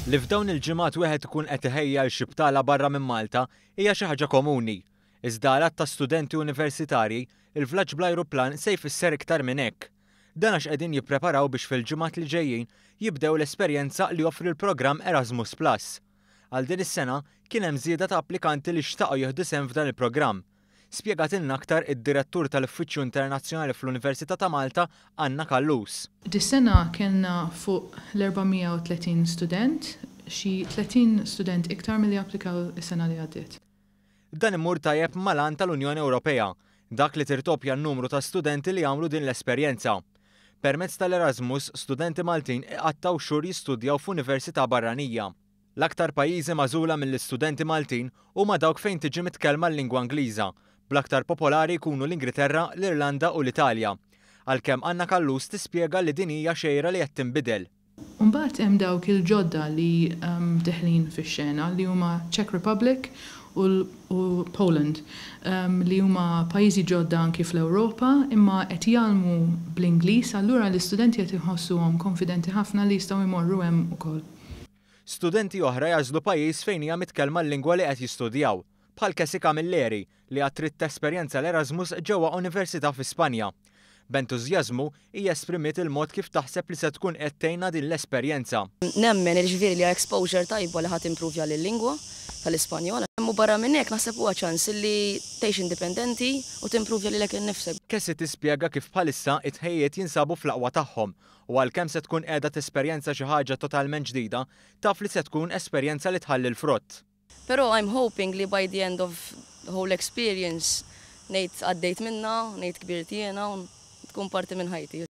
Li f'dawn il-ġimgħat wieħed ikun qed iħejji għal xi btala barra minn Malta hija xi ħaġa komuni. Iżda għal għadd ta' studenti universitarji, il-vlaġġ bl-ajruplan se jfisser iktar minn hekk. Dan għax qegħdin jippreparaw biex fil-ġimgħat li ġejjin jibdew l-esperjenza li joffri l-programm Erasmus Plus. Għal din is-sena kien hemm żieda ta' applikanti li xtaqu jieħdu sehem f'dan il-programm. Spjegatilna aktar id-Direttur tal-Uffiċċju Internazzjonali fl-Università ta' Malta, Anna Callus. Dis-sena kellna fuq l-430 student, xi 30 student iktar milli applikaw is-sena li għaddiet. Dan imur tajjeb mal-għan tal-Unjoni Ewropea, dak li tirdoppja n-numru ta' studenti li jagħmlu din l-esperjenza. Permezz tal-Erasmus, studenti Maltin iqattgħu xhur jistudjaw f'università barranija. L-aktar pajjiżi magħżula mill-istudenti Maltin huma dawk fejn tiġi mitkellma l-lingwa Ingliża, bl-aktar popolari jkunu l-Ingilterra, l-Irlanda u l-Italja. Għalkemm Anna Callus tispjega li din hija xejra li qed tinbidel. Mbagħad hemm dawk il-ġodda li deħlin fix-xena li huma Czech Republic u Poland li huma pajjiżi ġodda anki fl-Ewropa imma qed jgħallmu bl-Ingliż, allura l-istudenti qed iħossuhom konfidenti ħafna li jistgħu jmorru hemm ukoll. Studenti oħra jagħżlu pajjiż fejn hija mitkellma l-lingwa li qed jistudjaw, bħal Cassie Camilleri li għad trid tesperjenza l-Erasmus ġewwa università fi Spanja. B'entużjażmu hija esprimiet il-mod kif taħseb li se tkun qed tgħinha din l-esperjenza. Nemmen jiġifieri li exposure tajba li ħa timprovja l-lingwa tal-Ispanjol. U barra minn hekk naħseb huwa ċans li tgħix indipendenti u timprovja lilek innifsek. Cassie tispjega kif bħalissa it-tħejjiet jinsabu fl-aqwa tagħhom u għalkemm se tkun qiegħda tesperjenza xi ħaġa totalment ġdida, taf li se tkun esperjenza li tħalli l-frott. Però I'm hoping li by the end of the whole experience ngħid għaddejt minnha, ngħid kbirt jiena u tkun parti minn ħajti.